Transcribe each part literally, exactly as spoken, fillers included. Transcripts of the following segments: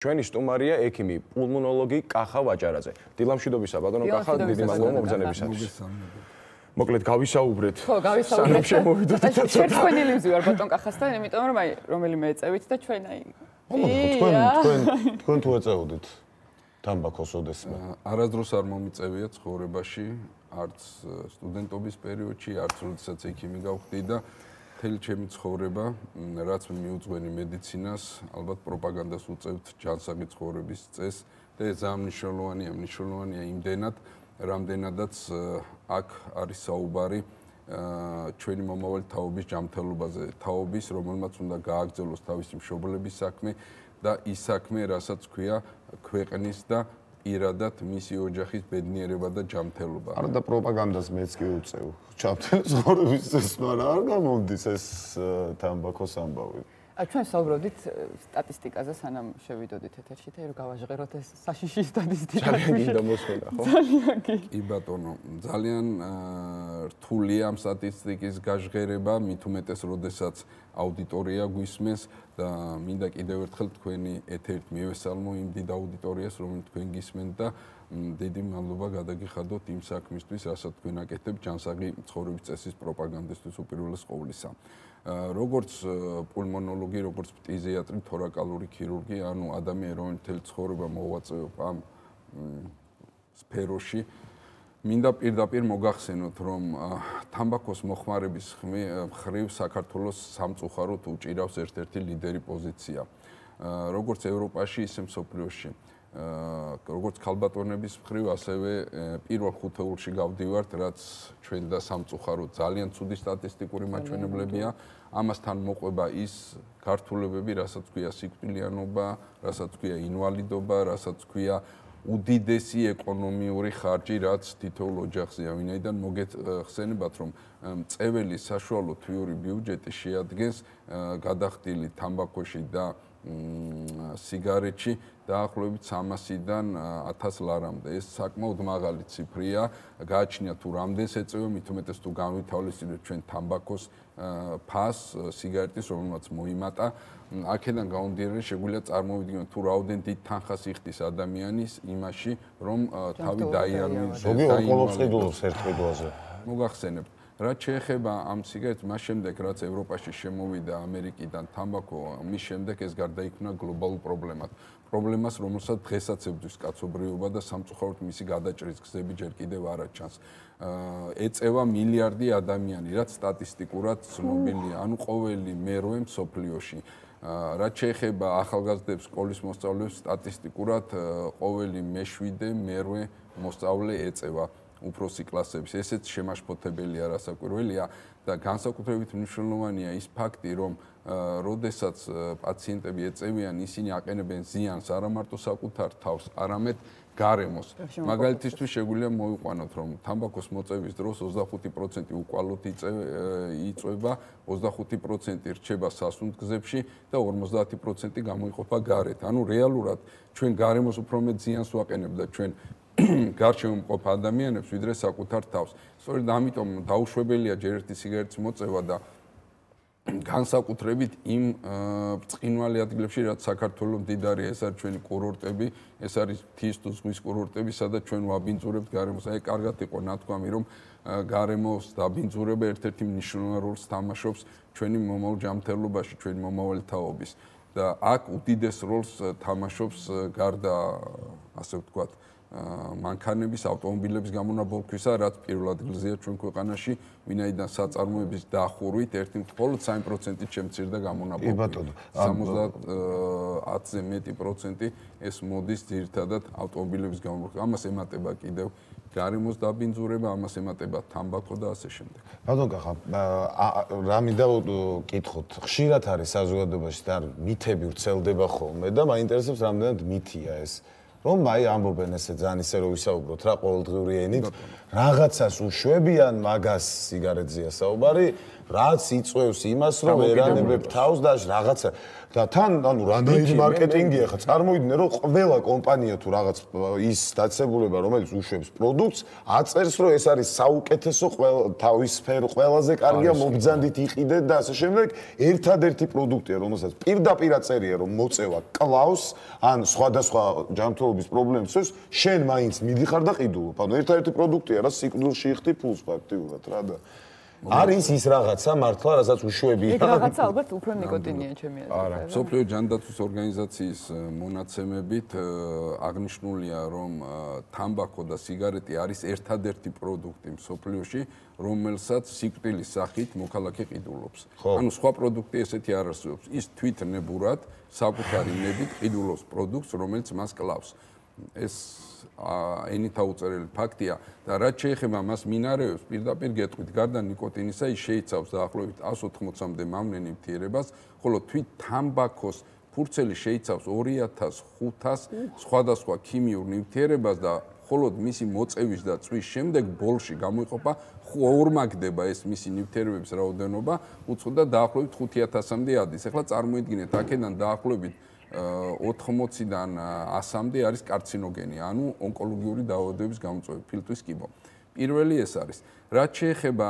ჩვენი სტუმარია ექიმი, პულმონოლოგი კახა ვაჭარაძე. დილამშვიდობისა, ბატონო კახა, დიდი მადლობა მოგზაურობისათვის. მოკლედ გავისაუბრეთ. ხო, გავისაუბრეთ. შემოვიდოთ და ცოტა. შეგხვენილი ვარ ბატონ კახასთან, იმიტომ რომ აი რომელიმე ეწევით და ჩვენ აი თქვენ თქვენ თქვენ თუ ეწეოდით თამბაქოს ოდესმე. არასდროს არ მომიწევია ცხოვრებაში, არც სტუდენტობის პერიოდში, არც როდესაც ექიმი გავხდი და მთელი ჩემი ცხოვრება, რაც მიუძღვენი მედიცინას, ალბათ პროპაგანდას უწევთ ჯანსაღი ცხოვრების წესს და ეს ძალიან მნიშვნელოვანია, მნიშვნელოვანია იმდენად, რამდენადაც აქ არის საუბარი ჩვენი მომავალი თაობის ჯანმრთელობაზე, თაობის, რომელმაც უნდა გააგრძელოს თავისი მშობლების საქმე და ის საქმე, რასაც ქვია ქვეყნის და პირადად მისი ოჯახის ბედნიერება და ჯანმრთელობა. არა და პროპაგანდას მეც კი უწევ. ჯანმრთელი ცხოვრების წესს, მაგრამ არ გამომდის ეს თამბაქოს ამბავი. ჩვენ საუბრობდით სტატისტიკაზე, სანამ შევიდოდით ეთერში და რომ გავაჟღეროთ ეს საშიში სტატისტიკა. ძალიან გინდა მოსმენა, ხო? ძალიან კი. კი ბატონო, ძალიან რთულია ამ სტატისტიკის გაჟღერება, მით უმეტეს, როდესაც აუდიტორია გვისმენს და მინდა კიდევ ერთხელ თქვენი ეთერით მივესალმო იმ დიდ აუდიტორიას, რომელიც თქვენ გისმენთ და დიდი მადლობა გადაგიხადოთ იმ საქმისთვის, რასაც თქვენ აკეთებთ ჯანსაღი ცხოვრების წესის პროპაგანდისთვის უპირველეს ყოვლისა. როგორც პულმონოლოგი, როგორც ფტიზიატრი, თორაკალური ქირურგი, ანუ ადამიანი, რომელიც მთელი ცხოვრება მოვაწეობ ამ სფეროში, მინდა პირდაპირ მოგახსენოთ, რომ თამბაქოს მოხმარების მხრივ საქართველოს სამწუხაროდ უჭირავს ერთ-ერთი ლიდერი პოზიცია. როგორც ევროპაში, ისე მსოფლიოში. როგორც ქალბატონების მხრივ, ასევე პირველ ხუთეულში გავდივართ, რაც ჩვენ და სამწუხაროდ ძალიან ცუდი სტატისტიკური მაჩვენებლებია. ამასთან მოყვება ის გართულებები, რასაც ქვია სიკვდილიანობა, რასაც ქვია ინვალიდობა, რასაც ქვია უდიდესი ეკონომიური ხარჯი, რაც თითოეულ ოჯახზეა. ვინაიდან მოგეხსენებათ, რომ წეველი საშუალო თვიური ბიუჯეტი შეადგენს გადახდილი თამბაქოში და სიგარეტში დაახლოებით სამასიდან ათას ლარამდე. ეს საკმაოდ მაღალი ციფრია. გააჩნია თუ რამდენს ეწევა, მით უმეტეს თუ განვითავლისწინებთ ჩვენ თამბაქოს ფასს, სიგარეტის, რომელმაც მოიმატა. აქედან გამომდინარე, შეგვიძლია წარმოვიდგინოთ თუ რაოდენ დიდ თანხას იხდის ადამიანის იმაში, რომ თავი დაიანვიზოს. ზოგი ონკოლოგს ყიდულობს ერთ ყიდვაზე. მოგახსენებთ. რაც შეეხება ამ სიგარეტს, მას შემდეგ, რაც ევროპაში შემოვიდა ამერიკიდან თამბაქო, მის შემდეგ ეს გარდაიქმნა გლობალურ პრობლემად. პრობლემას, რომელსაც დღესაც ებრძვის კაცობრიობა და სამწუხაროდ მისი გადაჭრის გზები ჯერ კიდევ არ აჩანს. ეწევა მილიარდი ადამიანი, რაც სტატისტიკურად ცნობილია, ანუ ყოველი მერვე მსოფლიოში. რაც შეეხება ახალგაზრდებს, სკოლის მოსწავლეებს, სტატისტიკურად ყოველი მეშვიდე მერვე მოსწავლე ეწევა უფროსი კლასების. ესეც შემაშფოთებელია, რასაკვირველია და განსაკუთრებით მნიშვნელოვანია ის ფაქტი, რომ როდესაც პაციენტები ეწევიან, ისინი აყენებენ ზიანს არა მარტო საკუთარ თავს, არამედ გარემოს. მაგალითისთვის შეგვიძლია მოვიყვანოთ, რომ თამბაქოს მოწევის დროს ოცდახუთი პროცენტი უკვალოდ იწვება, ოცდახუთი პროცენტი რჩება სასუნთქზებში და ორმოცდაათი პროცენტი გამოიყოფა გარეთ. ანუ რეალურად ჩვენ გარემოს უფრო მეტ ზიანს ვაყენებთ და ჩვენ გარშემო მყოფ ადამიანებს ვიდრე საკუთარ თავს. სწორედ ამიტომ დაუშვებელია ჯერ ერთი სიგარეტის მოწევა და განსაკუთრებით იმ ბრწყინვალე ადგილებში, რაც საქართველოს მდიდარია, ეს არის ჩვენი კურორტები, ეს არის მთის თუ ზღვის კურორტები, სადაც ჩვენ ვაბინძურებთ გარემოს. აი, კარგად იყო ნათქვამი, რომ გარემოს დაბინძურება ერთ-ერთი მნიშვნელოვან როლს თამაშობს ჩვენი მომავალ ჯანმრთელობაში, ჩვენი მომავალი თაობის და აქ უდიდეს როლს თამაშობს გარდა ასე ვთქვათ მანქანების, ავტომობილების გამონაბოლქვისა, რაც პირველ ადგილზეა ჩვენ ქვეყანაში, ვინაიდან საწარმოების დახურვით ერთი მხოლოდ სამი პროცენტით შემცირდა გამონაბოლქვი. სამოცდაათზე მეტი პროცენტი ეს მოდის ძირითადად ავტომობილების გამონაბოლქვი. ამას ემატება კიდევ გარემოს დაბინძურება, ამას ემატება თამბაქო და ასე შემდეგ. ბატონ კახა, რა მინდა ვკითხოთ, ხშირად არის საზოგადოებაში და მითები ვრცელდება ხოლმე და მაინტერესებს რამდენად მითია ეს. რომ აი ამბობენ ესე ძალიან ისე რომ ვისაუბროთ რა ყოველდღიური ენით რაღაცას უშვებიან მაგას სიგარეტზეა საუბარი რაც იწვევს იმას რომ ერანებებ თავს და რაღაცა და თან ანუ რამდენი მარკეტინგია ხა წარმოიდგინე რომ ყველა კომპანია თუ რაღაც ის დაწესებულება რომელიც უშვებს პროდუქტს აწერს რომ ეს არის საუკეთესო თავის სფერო ყველაზე კარგია მობრძანდით იყიდეთ და ასე შემდეგ ერთადერთი პროდუქტია რომელსაც პირდაპირ აწერია რომ მოწევა კლავს ან სხვადასხვა ჯანმრთელობის პრობლემებს ეს შენ მაინც მიდიხარ და ყიდულობ ანუ ერთადერთი პროდუქტია რა სიკვდილში იხდი ფულს ფაქტიურად რა და არის ის რაღაცა მართლა რასაც უშვებია. ეგ რაღაცა ალბათ უფრო ნიკოტინია ჩემი აზრით. არა, მსოფლიო ჯანდაცვის ორგანიზაციის მონაცემებით აღნიშნულია რომ თამბაქო და სიგარეტი არის ერთადერთი პროდუქტი მსოფლიოში, რომელსაც სიკვდილის სახით მოქალაქე ყიდულობს. ანუ სხვა პროდუქტი ესეთი არ არსებობს. ის თვითნებურად საკუთარი ნებით ყიდულობს პროდუქტს, რომელიც მას კლავს. ეს ენითა უწერელი ფაქტია და რაც შეეხება მას მინარევებს პირდაპირ გეტყვით გარდა ნიკოტინისა ის შეიცავს დაახლოებით εκατს ოთხმოცამდე მავნე ნივთიერებას ხოლო თვით თამბაქოს ფურცელი შეიცავს ორი ათას ხუთას სხვადასხვა ქიმიურ ნივთიერებას და მხოლოდ მისი მოწევის და წვის შემდეგ ბოლში გამოიყოფა ორმაგდება ეს მისი ნივთიერებების რაოდენობა უცხო და დაახლოებით ხუთი ათასამდე ადის. ეხლა წარმოიდგინეთ აქედან დაახლოებით ოთხმოციდან ასამდე არის კარცინოგენი, ანუ ონკოლოგიური დაავადებების გამოწვევი, ფილტვის კიბო. პირველი ეს არის. რაც შეეხება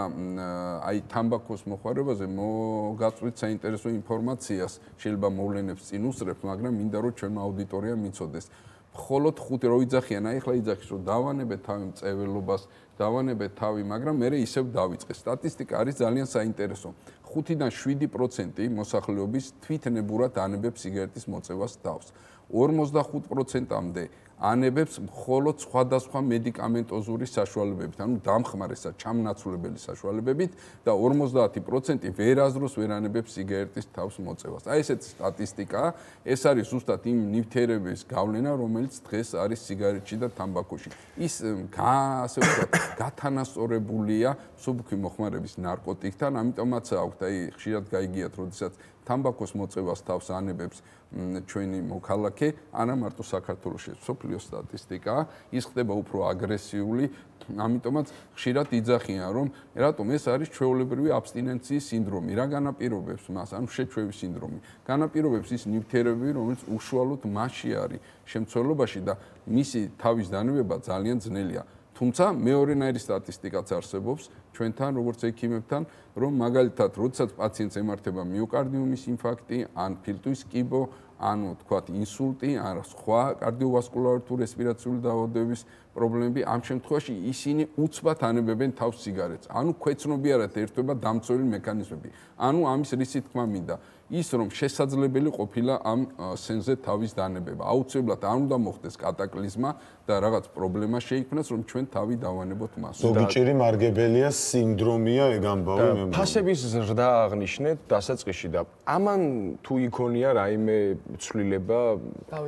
აი თამბაქოს მოხმარებაზე, მოგაწვით საინტერესო ინფორმაციას, შეიძლება მოვლენებს წინ უსწრებთ, მაგრამ მინდა რომ ჩვენმა აუდიტორიამ მიცოდეს. მხოლოდ ხუთი რო იძახიან, აი ახლა იძახის რომ დავანებეთ თავი მწეველობას, დავანებეთ თავი, მაგრამ მე ისევ დავიწყე. სტატისტიკა არის ძალიან საინტერესო. ხუთიდან შვიდი პროცენტი მოსახლეობის თვითნებურად ანებებს სიგარეტის მოწევას თავს. ორმოცდახუთ პროცენტამდე ანებებს მხოლოდ სხვადასხვა მედიკამენტოზური საშუალებებით, ანუ დამხმარე ჩამნაცვლებელი საშუალებებით და ორმოცდაათი პროცენტი ვერაზროს ვერ ანებებს სიგარეტის თავს მოწევას. აი ესეთი სტატისტიკაა, ეს არის ზუსტად იმ ნივთიერების გავლენა, რომელიც დღეს არის სიგარეტში და თამბაქოში. ის ასე ვთქვათ, გათანასწორებულია მსუბუქი მოხმარების ნარკოტიკთან, ამიტომაც აქვთ აი ხშირად გაიგიათ, როდესაც თამბაქოს მოწევას თავს ანებებს ჩვენი მოქალაქე, არა მარტო საქართველოში, მსოფლიო სტატისტიკაა, ის ხდება უფრო აგრესიული, ამიტომაც ხშირად იძახიან, რომ რატომ ეს არის ჩვეულებრივი აბსტინენციის სინდრომი, რა განაპირობებს მას, ანუ შეჩვევის სინდრომი. განაპირობებს ის ნივთიერებები, რომელიც უშუალოდ მასში არის შემცველობაში და მისი თავის დანებება ძალიან ძნელია. თუმცა მეორენაირი სტატისტიკაც არსებობს ჩვენთან, როგორც ექიმებთან, რომ მაგალითად, როდესაც პაციენტს ემართება მიოკარდიუმის ინფარქტი, ან ფილტვის კიბო, ანუ თქვათ ინსულტი, ან სხვა კარდიოვასკულარული თუ რესპირაციული დაავადებების პრობლემები, ამ შემთხვევაში ისინი უცბად ანებებენ თავს სიგარეტს. ანუ ქვეცნობიერად ერთვება დამცველი მექანიზმები. ანუ ამის რისი თქმა მინდა? ის რომ შესაძლებელი ყოფილა ამ სენზე თავის დანებება. აუცილებლად არ უნდა მოხდეს კატაკლიზმა და რაღაც პრობლემა შეიქმნას, რომ ჩვენ თავი დავანებოთ მას. ზოგიჭირი მარგებელია სინდრომია ეგ ამბავი მე. ფასების ზრდა აღნიშნეთ დასაწყისში და ამან თუ იქონია რაიმე ცვლილება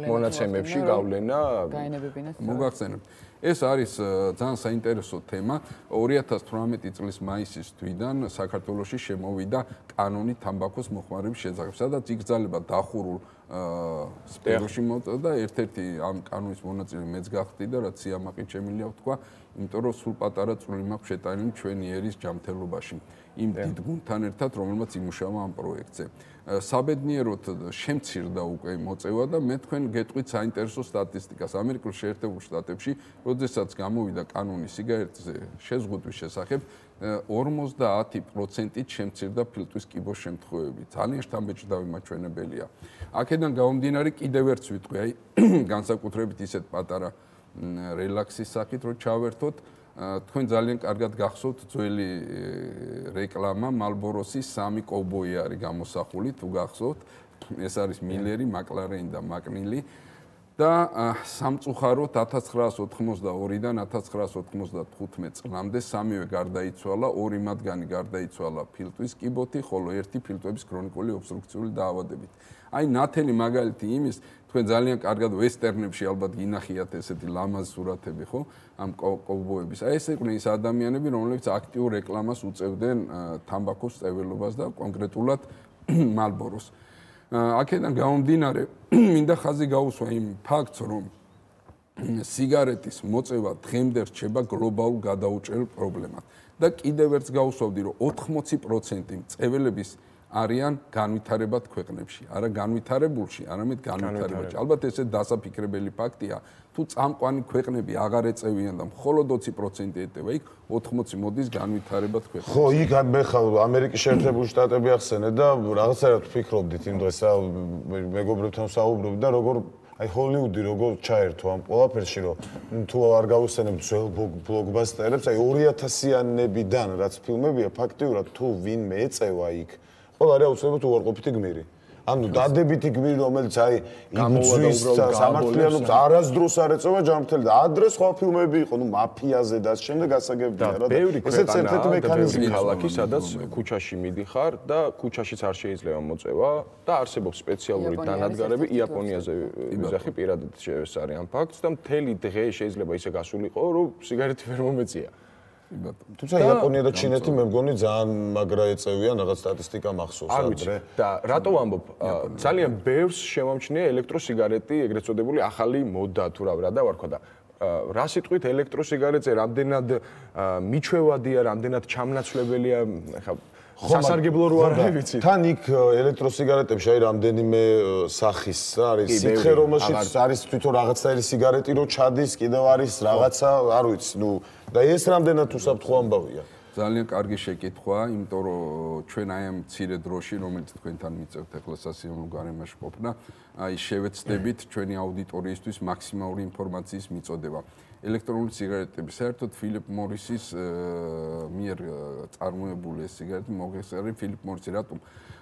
მონაცემებში გავლენა გაენებებინათ. მოგახსენებთ. ეს არის ძალიან საინტერესო თემა. ორი ათას თვრამეტი წლის მაისის თვიდან საქართველოში შემოვიდა კანონი თამბაქოს მოხმარების შესახებ, სადაც იგრძალება დახურულ სფეროში მოწოდა და ერთ-ერთი ამ კანონის მონაწილე მეც გახდი და რაც სიამაყით შემილია ვთქვა, იმიტომ რომ სულ პატარა წვლილი მაქვს შეტანილი ჩვენი ერის ჯანმრთელობაში. იმ დიდ გუნდთან ერთად, რომელმაც იმუშავა ამ პროექტზე. საბედნიეროდ შემცირდა უკვე მოწევა და მე თქვენ გეტყვით საინტერესო სტატისტიკას. ამერიკულ შეერთებულ შტატებში, როდესაც გამოვიდა კანონი სიგარეტზე შეზღუდვის შესახებ, ორმოცდაათი პროცენტით შემცირდა ფილტვის კიბოს შემთხვევები. ძალიან შთამბეჭდავი მაჩვენებელია. აქედან გამომდინარე კიდევ ერთს ვიტყვი, აი განსაკუთრებით ისეთ პატარა რელაქსის სახით, რომ ჩავერთოთ. თქვენ ძალიან კარგად გახსოვთ ძველი რეკლამა Marlboro-ის სამი კოვბოი არის გამოსახული, თუ გახსოვთ. ეს არის მილერი, მაკლარენი და მაკნილი. და სამწუხაროდ ათას ცხრაას ოთხმოცდაორიდან ათას ცხრაას ოთხმოცდათხუთმეტ წლამდე სამივე გარდაიცვალა, ორი მათგანი გარდაიცვალა ფილტვის კიბოთი, ხოლო ერთი ფილტვების ქრონიკული ობსტრუქციული დაავადებით. აი ნათელი მაგალითი იმის, თქვენ ძალიან კარგად ვესტერნებში ალბათ გინახიათ ესეთი ლამაზ სურათები, ხო? ამ კოვბოების. აი ეს იყვნენ ის ადამიანები, რომლებიც აქტიურ რეკლამას უწევდნენ თამბაქოს წეველობას და კონკრეტულად Marlboro-ს. აქედან გამომდინარე, მინდა ხაზი გაუსვა იმ ფაქტს, რომ სიგარეტის მოწევა დღემდე რჩება გლობალურ გადაუჭრელ პრობლემად. და კიდევ ერთს გავუსვავდი, რომ ოთხმოცი პროცენტი მწეველების არიან განვითარებად ქვეყნებში, არა განვითარებულში, არამედ განვითარებაში. ალბათ ესე დასაფიქრებელი ფაქტია, თუ წამყვანი ქვეყნები აღარ ეწევიან და მხოლოდ ოცი პროცენტი ეტევა, იქ ოთხმოცი მოდის განვითარებად ქვეყნებში. ხო, იქ მე ხალ ამერიკის შეერთებული შტატები ახსენე და რაღაცაერად ვფიქრობდით იმ დღეს მეგობრებთან ვსაუბრობდი და როგორ აი ჰოლივუდი როგორ ჩაერთო ამ ყველაფერში, რომ თუ არ გავუსწენებ ძველ ბლოკბასტერებს, აი ორი ათასიანებიდან რაც ფილმებია, ფაქტიურად თუ ვინმე ეწევა იქ, ყველა არის აუცილებლად უარყოფითი გმირი. ანუ დადებითი გმირი, რომელიც აი იმძვის სამართლიანობს არასდროს არ ეწევა ჯანმრთელი და ადრე სხვა ფილმები იყო, ნუ მაფიაზე და ამ შემდეგ ასაგებია რა. ესეც ერთ-ერთი მექანიზმი ქალაქი, სადაც ქუჩაში მიდიხარ და ქუჩაშიც არ შეიძლება მოწევა და არსებობს სპეციალური დანადგარები იაპონიაზე ვიზახი პირადად ეს არის ამ ფაქტს და მთელი დღე შეიძლება ისე გასულიყო, რომ სიგარეტი ვერ მომეწია. თუმცა იაპონია და ჩინეთი მე მგონი ძალიან მაგრა ეწევიან რაღაც სტატისტიკა მახსოვს ადრე. და რატო ვამბობ, ძალიან ბევრს შემამჩნია ელექტროსიგარეტი, ეგრეთ წოდებული ახალი მოდა თუ რა და ვარქვა და რა სიტყვით ელექტროსიგარეტზე რამდენად მიჩვევადია, რამდენად ჩამნაცვლებელია, ხა სასარგებლო რო არ ვიცი. თან იქ ელექტროსიგარეტებში აი რამდენიმე სახის არის სითხე, რომელშიც არის თვითონ რაღაცაერი სიგარეტი რო ჩადის, კიდევ არის რაღაცა, არ ვიცი, ნუ და ეს რამდენად უსაფრთხო ამბავია. ძალიან კარგი შეკითხვაა, იმიტომ რომ ჩვენ აი ამ მცირე დროში, რომელიც თქვენთან მიწევთ ახლა სასიამოვნო გარემოში ყოფნა, აი შევეცდებით ჩვენი აუდიტორიისთვის მაქსიმალური ინფორმაციის მიწოდება. ელექტრონული სიგარეტები საერთოდ ფილიპ მორისის მიერ წარმოებული ეს სიგარეტი მოგესწარი ფილიპ მორისი რატომ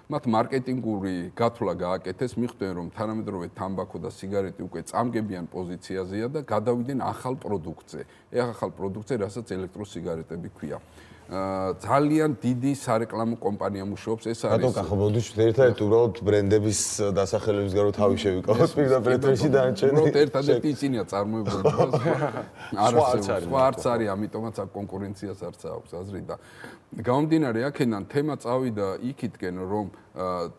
მათ მარკეტინგური გათვლა გააკეთეს, მიხვდნენ რომ თანამედროვე თამბაქო და სიგარეტი უკვე წამგებიან პოზიციაზეა და გადავიდნენ ახალ პროდუქტზე. ეხ ახალ პროდუქტზე, რასაც ელექტროსიგარეტები ქვია. ძალიან დიდი სარეკლამო კომპანია მუშაობს, ეს არის. რატო კახობოდი ერთადერთი უბრალოდ ბრენდების დასახელების გარო თავი შევიკავოთ პირდაპირ ეთერში დანარჩენი. უბრალოდ ერთადერთი ისინია წარმოებული. სხვა არც არის, ამიტომაც აქ კონკურენციას არც აქვს აზრი და გამომდინარე აქედან თემა წავიდა იქითკენ, რომ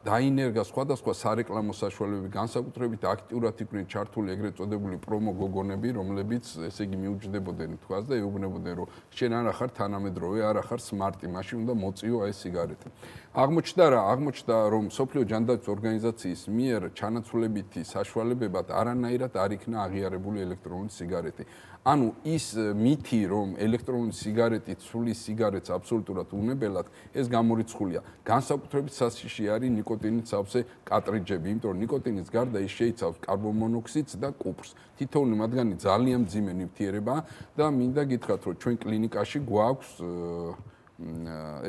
დაინერგა სხვადასხვა სარეკლამო საშუალებები, განსაკუთრებით აქტიურად იყვნენ ჩართული ეგრეთ წოდებული პრომო გოგონები, რომლებიც ესე იგი მიუჯდებოდნენ თქვას და ეუბნებოდნენ, რომ შენ არა ხარ თანამედროვე, არა ხარ სმარტი, მაშინ უნდა მოწიო ეს სიგარეტი. აღმოჩნდა რა, აღმოჩნდა რომ სოფლიო ჯანდაცვის ორგანიზაციის მიერ ჩანაცვლებითი საშუალებებად არანაირად არ იქნა აღიარებული ელექტრონული სიგარეტი. ანუ ის მითი, რომ ელექტრონული სიგარეტი ცვლის სიგარეტს აბსოლუტურად უნებელად, ეს გამორიცხულია. განსაკუთრებით სასიში არის ნიკოტინით სავსე კარტრიჯები, იმიტომ რომ ნიკოტინის გარდა ის შეიცავს კარბონმონოქსიდს და კუპრს. თითოეული მათგანი ძალიან მძიმე ნივთიერებაა და მინდა გითხრათ, რომ ჩვენ კლინიკაში გვაქვს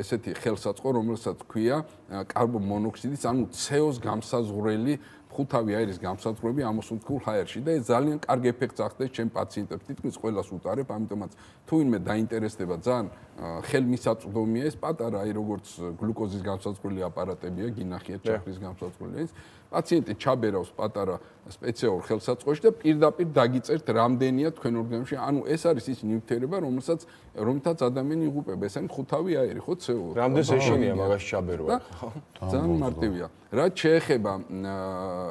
ესეთი ხელსაწყო, რომელსაც ქვია კარბონმონოქსიდის, ანუ ცე ოს გამსაზღვრელი ხუთავი აირის გამსაზღვრები ამოსუნთქულ ჰაერში და ეს ძალიან კარგი ეფექტს ახდენს ჩემ პაციენტებს. თითქმის ყველას უტარებ, ამიტომაც თუ ვინმე დაინტერესდება, ძალიან ხელმისაწვდომია ეს პატარა, აი როგორც გლუკოზის გამსაზღვრელი აპარატებია, გინახიათ ჩაქრის გამსაზღვრელი ის. პაციენტი ჩაბერავს პატარა სპეციალურ ხელსაწყოში და პირდაპირ დაგიწერთ რამდენია თქვენ ორგანიზმში. ანუ ეს არის ის ნივთიერება, რომელსაც რომელთაც ადამიანი იღუპება. ეს არის ხუთავი აირი, ხო, ცე ო. რამდენს ეშინია მაგას ჩაბერვა, ხო? ძალიან მარტივია. რაც შეეხება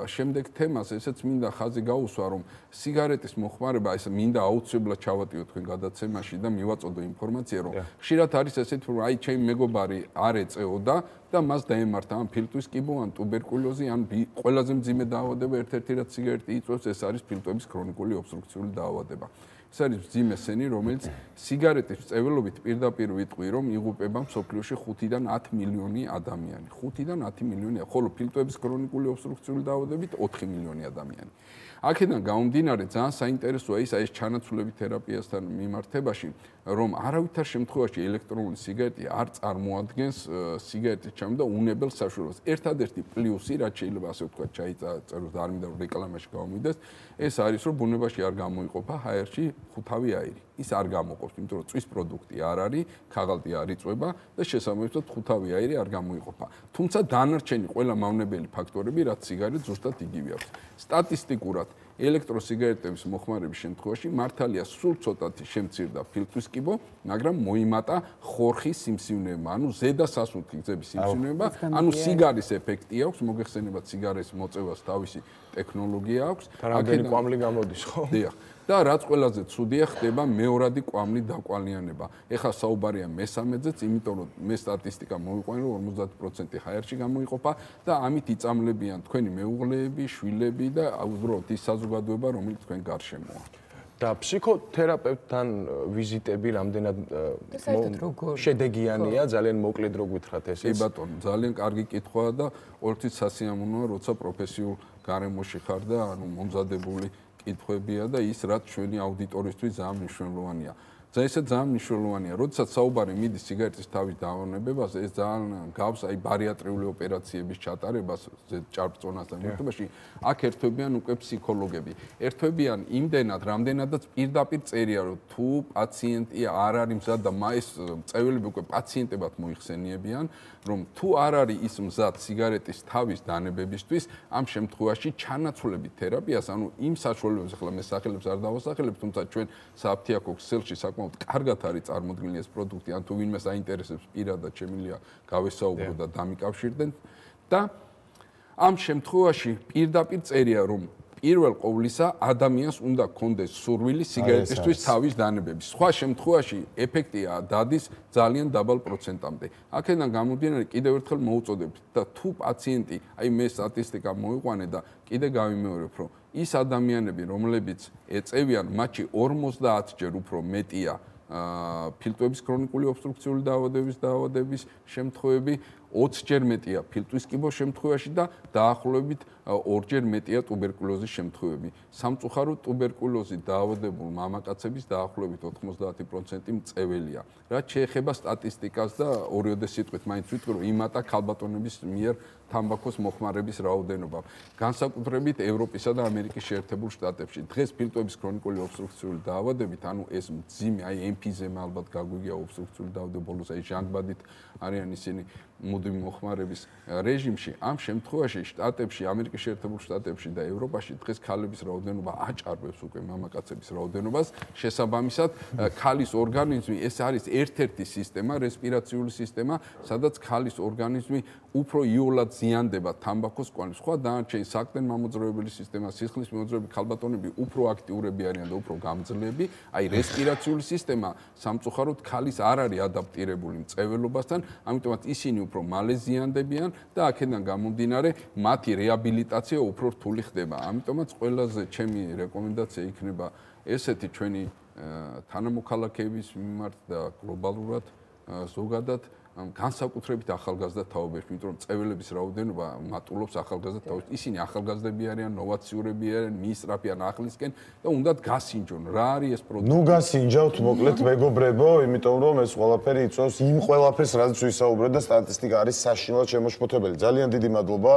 შემდეგ თემას, ესეც მინდა ხაზი გაუსვა, რომ სიგარეტის მოხმარება, ეს მინდა აუცილებლად ჩავატიო თქვენ გადაცემაში და მივაწოდო ინფორმაცია, რომ ხშირად არის ესეთი, რომ აი ჩემი მეგობარი არ ეწეოდა და მას დაემართა ან ფილტვის კიბო, ან ტუბერკულოზი, ან ყველაზე მძიმე დაავადება ერთ-ერთი რაც სიგარეტი იწვევს, ეს არის ფილტვების ქრონიკული ობსტრუქციული დაავადება. ეს არის მძიმე სენი, რომელიც სიგარეტის წეველობით პირდაპირ ვიტყვი, რომ იღუპება მსოფლიოში ხუთიდან ათი მილიონი ადამიანი. ხუთიდან ათი მილიონი, ხოლო ფილტვების ქრონიკული ობსტრუქციული დაავადებით ოთხი მილიონი ადამიანი. აქედან გამომდინარე, ძალიან საინტერესოა ის აი ეს ჩანაცვლები თერაპიასთან მიმართებაში, რომ არავითარ შემთხვევაში ელექტრონული სიგარეტი არ წარმოადგენს სიგარეტის ჩამო და უნებელ საშუალებას. ერთადერთი პლუსი, რაც შეიძლება ასე ვთქვათ, ჩაიწეროს და არ მინდა რომ რეკლამაში გამომიდეს, ეს არის, რომ ბუნებაში არ გამოიყოფა ჰაერში ხუთავი აირი. ის არ გამოყოფს, იმიტომ რომ წვის პროდუქტი არ არის, ქაღალდი არ იწვება და შესაბამისად ხუთავი აირი არ გამოიყოფა. თუმცა დანარჩენი ყველა მავნებელი ფაქტორები, რაც სიგარეტს ზუსტად იგივე აქვს. სტატისტიკურად ელექტროსიგარეტების მოხმარების შემთხვევაში მართალია სულ ცოტათი შემცირდა ფილტვის კიბო, მაგრამ მოიმატა ხორხის სიმსივნეება, ანუ ზედა სასუნთქი გზების სიმსივნეება, ანუ სიგარის ეფექტი აქვს, მოგეხსენებათ სიგარის მოწევას თავისი ტექნოლოგია აქვს. რამდენი კვამლი გამოდის, ხო? დიახ. და რაც ყველაზე ცუდია, ხდება მეორადი კვამლი დაკვალიანება. ეხლა საუბარია მესამედზეც, იმიტომ რომ მე სტატისტიკა მოვიყვანე, რომ ორმოცდაათი პროცენტი ჰაერში გამოიყოფა და ამით იწამლებიან თქვენი მეუღლეები, შვილები და უბრალოდ ის საზოგადოება, რომელიც თქვენ გარშემოა. და ფსიქოთერაპევტთან ვიზიტები რამდენად შედეგიანია, ძალიან მოკლედ რო გითხრათ ეს. კი ბატონო, ძალიან კარგი კითხვაა და ყოველთვის სასიამოვნოა, როცა პროფესიულ გარემოში ხარ და ანუ მომზადებული კითხვებია და ის რაც ჩვენი აუდიტორისთვის ძალიან მნიშვნელოვანია. და ესე ძალიან მნიშვნელოვანია, როდესაც საუბარი მიდის სიგარეტის თავის დავანებებაზე, ეს ძალიან გავს აი ბარიატრიული ოპერაციების ჩატარებას ჭარბწონასთან ერთობაში. აქ ერთვებიან უკვე ფსიქოლოგები. ერთვებიან იმდენად, რამდენადაც პირდაპირ წერია, რომ თუ პაციენტი არ არის მზად და ეს წეველები უკვე პაციენტებად მოიხსენიებიან, რომ თუ არ არის ის მზად სიგარეტის თავის დანებებისთვის, ამ შემთხვევაში ჩანაცვლებით თერაპიას, ანუ იმ საშუალებებს ახლა მე სახელებს არ დავასახელებ, თუმცა ჩვენ საფთიაქო ქსელში საკმაოდ კარგად არის წარმოდგენილი ეს პროდუქტი, ან თუ ვინმე საინტერესებს პირადად შემიძლია გავესაუბრო და დამიკავშირდნენ და ამ შემთხვევაში პირდაპირ წერია, რომ პირველ ყოვლისა ადამიანს უნდა კონდეს სურვილი სიგარეტისთვის თავის დანებების. სხვა შემთხვევაში ეფექტია დადის ძალიან დაბალ პროცენტამდე. აქედან გამომდინარე კიდევ ერთხელ მოუწოდებ და თუ პაციენტი, აი მე სტატისტიკა მოვიყვანე და კიდე გავიმეორებ, რომ ის ადამიანები, რომლებიც ეწევიან, მათში ორმოცდაათჯერ უფრო მეტია ფილტვების ქრონიკული ობსტრუქციული დაავადების დაავადების შემთხვევები, ოცჯერ მეტია ფილტვის კიბოს შემთხვევაში და დაახლოებით ორჯერ მეტია ტუბერკულოზის შემთხვევები. სამწუხაროდ ტუბერკულოზით დაავადებულ მამაკაცების დაახლოებით ოთხმოცდაათი პროცენტი მწეველია. რაც შეეხება სტატისტიკას და ორიოდე სიტყვით მაინც ვიტყვი, რომ იმატა ქალბატონების მიერ თამბაქოს მოხმარების რაოდენობა. განსაკუთრებით ევროპისა და ამერიკის შეერთებულ შტატებში. დღეს ფილტვების ქრონიკული ობსტრუქციული დაავადებით, ანუ ეს მძიმე, აი ემფიზემა ალბათ გაგვიგია ობსტრუქციული დაავადების ბოლოს, აი ჟანგბადით არიან ისინი მუდმივ მოხმარების რეჟიმში. ამ შემთხვევაში შტატებში, ამერიკის შეერთებულ შტატებში და ევროპაში დღეს ქალების რაოდენობა აჭარბებს უკვე მამაკაცების რაოდენობას. შესაბამისად, ქალის ორგანიზმი ეს არის ერთ-ერთი სისტემა, რესპირაციული სისტემა, სადაც ქალის ორგანიზმი უფრო იოლად ზიანდება თამბაქოს კვანით. სხვა დანარჩენი საყრდენ მამოძრავებელი სისტემა, სისხლის მიმოძრავებელი ქალბატონები უფრო აქტიურები არიან და უფრო გამძლეები. აი რესპირაციული სისტემა სამწუხაროდ ქალის არ არის ადაპტირებული მწეველობასთან, ამიტომაც ისინი უფრო მალე ზიანდებიან და აქედან გამომდინარე მათი რეაბილიტაცია უფრო რთული ხდება. ამიტომაც ყველაზე ჩემი რეკომენდაცია იქნება ესეთი ჩვენი თანამოქალაქეების მიმართ და გლობალურად ზოგადად განსაკუთრებით ახალგაზრდა თაობებში, იმიტომ რომ წეველების რაოდენობა მატულობს ახალგაზრდა თაობებში. ისინი ახალგაზრდები არიან, ნოვაციურები არიან, მიისწრაფიან ახლისკენ და უნდათ გასინჯონ. რა არის ეს პროდუქტი? ნუ გასინჯავთ მოკლედ მეგობრებო, იმიტომ რომ ეს ყველაფერი იწვევს იმ ყველაფერს, რაც ვისაუბრეთ და სტატისტიკა არის საშინლად შემოშფოთებელი. ძალიან დიდი მადლობა.